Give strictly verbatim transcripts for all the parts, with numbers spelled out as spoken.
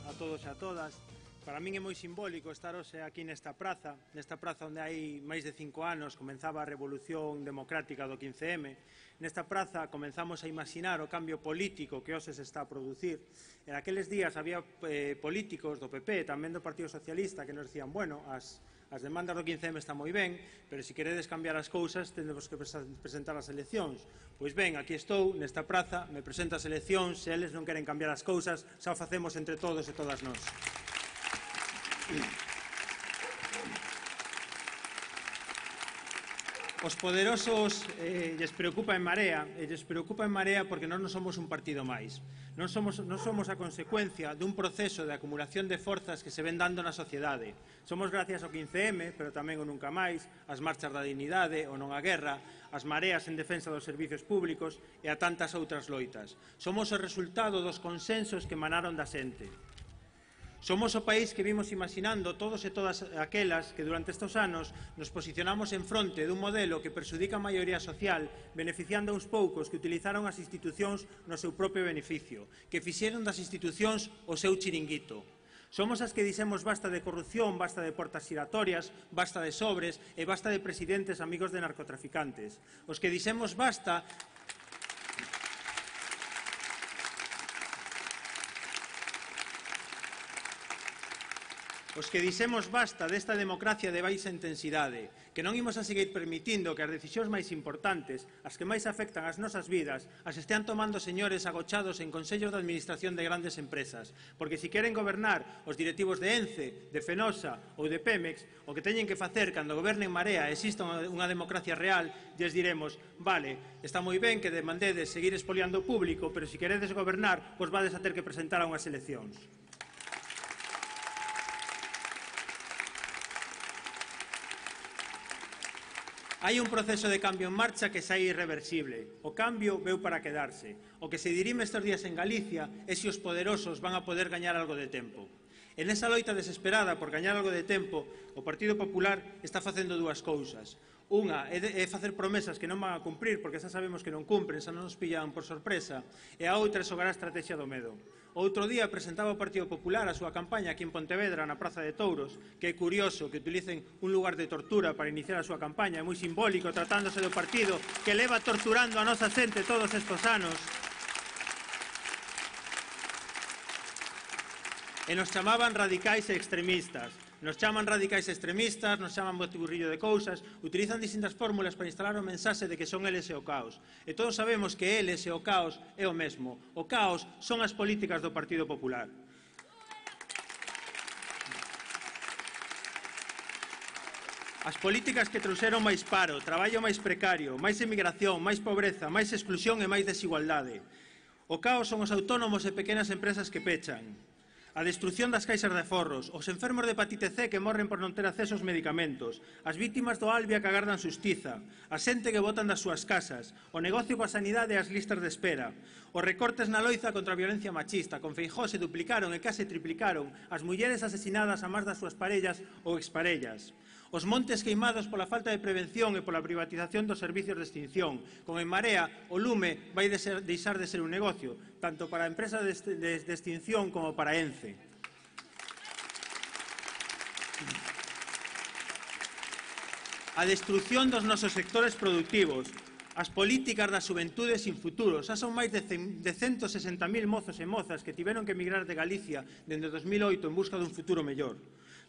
a todos e a todas. Para min é moi simbólico estar hoxe aquí nesta praza, nesta praza onde hai máis de cinco anos comenzaba a revolución democrática do quince eme. Nesta praza comenzamos a imaginar o cambio político que hoxe se está a producir. En aqueles días había eh, políticos do P P, tamén do Partido Socialista, que nos decían, bueno, as, as demandas do quince eme están moi ben, pero se queredes cambiar as cousas tendemos que presentar as eleccións. Pois ben, aquí estou, nesta praza, me presento as eleccións, se eles non queren cambiar as cousas, xa o facemos entre todos e todas nós. Os poderosos eh, lles preocupa en Marea, e lles preocupa en Marea porque nós non somos un partido máis. Non somos, non somos a consecuencia dun proceso de acumulación de forzas que se ven dando na sociedade. Somos gracias ao quince eme, pero tamén o Nunca Máis, as marchas da dignidade, o Non á Guerra, as mareas en defensa dos servicios públicos e a tantas outras loitas. Somos o resultado dos consensos que emanaron da xente. Somos o país que vimos imaginando todos e todas aquelas que durante estes anos nos posicionamos en fronte dun modelo que perxudica a maioría social, beneficiando a uns poucos que utilizaron as institucións no seu propio beneficio, que fixeron das institucións o seu chiringuito. Somos as que dixemos basta de corrupción, basta de portas xiratorias, basta de sobres e basta de presidentes amigos de narcotraficantes. Os que dixemos basta... Os que dixemos basta desta democracia de baixa intensidade, que non imos a seguir permitindo que as decisións máis importantes, as que máis afectan as nosas vidas, as estean tomando señores agochados en consellos de administración de grandes empresas, porque se queren gobernar os directivos de Ence, de Fenosa ou de Pemex, o que teñen que facer cando gobernen Marea e exista unha democracia real, lles diremos, vale, está moi ben que demandedes seguir expoliando o público, pero se queredes gobernar, vos vades a ter que presentar a unhas eleccións. Hai un proceso de cambio en marcha que xa é irreversible. O cambio veu para quedarse. O que se dirime estes días en Galicia é se os poderosos van a poder gañar algo de tempo. En esa loita desesperada por gañar algo de tempo, o Partido Popular está facendo dúas cousas. Unha é, de, é facer promesas que non van a cumprir, porque xa sabemos que non cumpren, xa non nos pillan por sorpresa, e a outra é xogar a estrategia do medo. Outro día presentaba o Partido Popular a súa campaña aquí en Pontevedra, na Praza de Touros, que é curioso que utilicen un lugar de tortura para iniciar a súa campaña, é moi simbólico tratándose do partido que leva torturando a nosa xente todos estes anos. E nos chamaban radicais e extremistas. Nos chaman radicais e extremistas, nos chaman botiburrillo de cousas, utilizan distintas fórmulas para instalar o mensaxe de que son eles e o caos. E todos sabemos que eles e o caos é o mesmo. O caos son as políticas do Partido Popular. As políticas que trouxeron máis paro, traballo máis precario, máis emigración, máis pobreza, máis exclusión e máis desigualdade. O caos son os autónomos e pequenas empresas que pechan. A destrucción das caixas de aforros, os enfermos de hepatite ce que morren por non ter acceso aos medicamentos, as vítimas do Albia que agardan xustiza, a xente que botan das súas casas, o negocio coa sanidade e as listas de espera, os recortes na loiza contra a violencia machista, con Feijóo se duplicaron e case triplicaron as mulleres asesinadas a máis das súas parellas ou exparellas, os montes queimados pola falta de prevención e pola privatización dos servicios de extinción. Con En Marea, o lume vai deixar de ser un negocio, tanto para a empresa de extinción como para Ence. A destrucción dos nosos sectores productivos, as políticas da xuventude sin futuro, xa son máis de ciento sesenta mil mozos e mozas que tiveron que emigrar de Galicia dende dos mil oito en busca dun futuro mellor.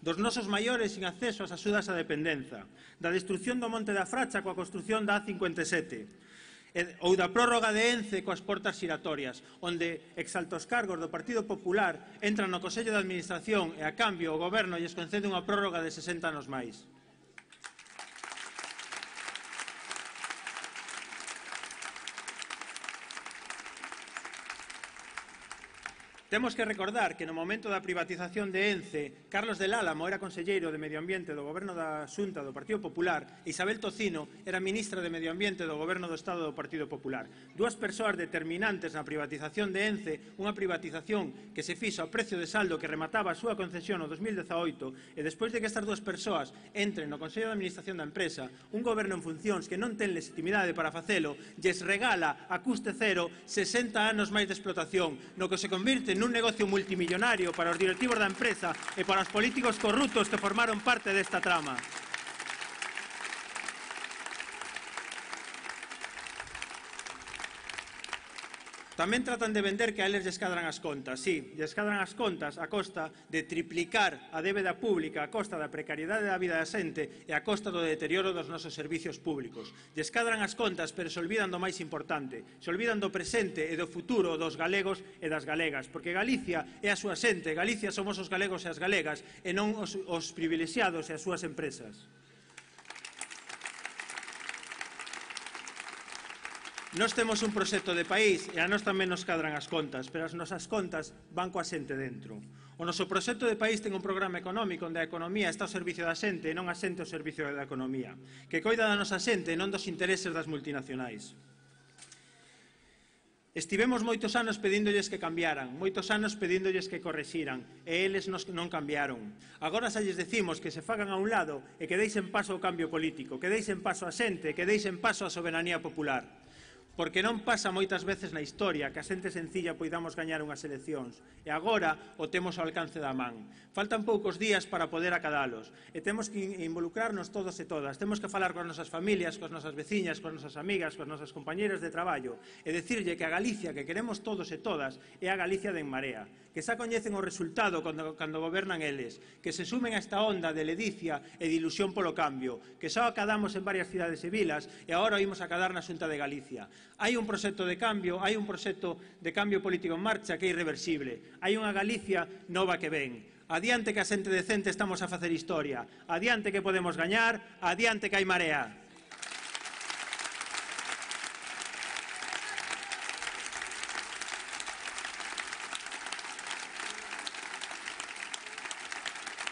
Dos nosos maiores sin acceso ás axudas á dependenza, da destrucción do Monte da Fracha coa construción da A cincuenta e sete, ou da prórroga de Ence coas portas xiratorias, onde exaltos cargos do Partido Popular entran no Consello de Administración e, a cambio, o Goberno lles concede unha prórroga de sesenta anos máis. Temos que recordar que no momento da privatización de Ence, Carlos del Álamo era conselleiro de Medio Ambiente do Goberno da Xunta do Partido Popular e Isabel Tocino era ministra de Medio Ambiente do Goberno do Estado do Partido Popular. Dúas persoas determinantes na privatización de Ence, unha privatización que se fixo a precio de saldo que remataba a súa concesión no dos mil dezaoito e despois de que estas dúas persoas entren no Consello de Administración da empresa, un goberno en funcións que non ten legitimidade para facelo, lles regala a custe cero sesenta anos máis de explotación, no que se convirte nun un negocio multimillonario para os directivos da empresa e para os políticos corruptos que formaron parte desta trama. Tamén tratan de vender que a eles lles cadran as contas. Sí, lles cadran as contas a costa de triplicar a débeda pública, a costa da precariedade da vida da xente e a costa do deterioro dos nosos servicios públicos. Lles cadran as contas, pero se olvidan do máis importante. Se olvidan do presente e do futuro dos galegos e das galegas, porque Galicia é a súa xente, Galicia somos os galegos e as galegas, e non os, os privilexiados e as súas empresas. Nós temos un proxecto de país e a nós tamén nos cadran as contas, pero as nosas contas van coa xente dentro. O noso proxecto de país ten un programa económico onde a economía está ao servicio da xente e non a xente ao servicio da economía, que coida da nosa xente e non dos intereses das multinacionais. Estivemos moitos anos pedíndolles que cambiaran, moitos anos pedíndolles que correxiran, e eles nos non cambiaron. Agora xa lles decimos que se fagan a un lado e que deixen paso ao cambio político, que deixen paso á xente, que deixen paso á soberanía popular. Porque non pasa moitas veces na historia que a xente sencilla poidamos gañar unhas eleccións, e agora o temos ao alcance da man. Faltan poucos días para poder acadalos, e temos que involucrarnos todos e todas, temos que falar coas nosas familias, coas nosas veciñas, coas nosas amigas, coas nosas compañeras de traballo, e dicirlle que a Galicia que queremos todos e todas é a Galicia de En Marea, que xa coñecen o resultado cando, cando gobernan eles, que se sumen a esta onda de ledicia e de ilusión polo cambio, que xa acadamos en varias cidades e vilas e agora oímos acadar na Xunta de Galicia. Hai un proxecto de cambio, hai un proxecto de cambio político en marcha que é irreversible. Hai unha Galicia nova que ven. Adiante que a xente decente estamos a facer historia. Adiante que podemos gañar, adiante que hai Marea.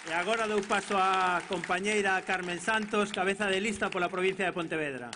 E agora dou paso á compañeira Carmen Santos, cabeza de lista pola provincia de Pontevedra.